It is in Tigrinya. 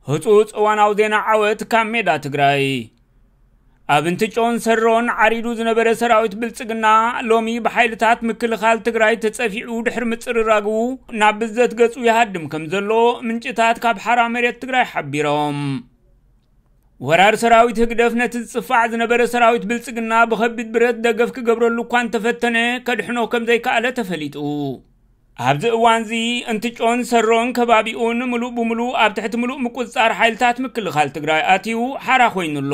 ህፁፅ እዋናዊ ዜና ዓወት ካብ ሜዳ ትግራይ። ኣብ እንትጮን ሰሮን ዓሪዱ ዝነበረ ሰራዊት ብልፅግና ሎሚ ብሓይልታት ምክልኻል ትግራይ ተፀፊዑ ድሕሪ ምፅርራጉ ናብ ብዘት ገፁ ይሃድም ከም ዘሎ ምንጭታት ካብ ሓራ መሬት ትግራይ ሓቢሮም። ወራር ሰራዊት ህግደፍ ነቲ ዝፅፋዕ ዝነበረ ሰራዊት ብልፅግና ብኸቢድ ብረት ደገፍ ክገብረሉ እኳ እንተፈተነ ከድሕኖ ከም ዘይከኣለ ተፈሊጡ። ኣብዚ እዋንዚ እንትጮን ሰሮን ከባቢኡን ምሉእ ብምሉእ ኣብ ትሕቲ ምሉእ ምቁፅፃር ሓይልታት ምክልኻል ትግራይ ኣትዩ ሓራ ኮይኑ ኣሎ።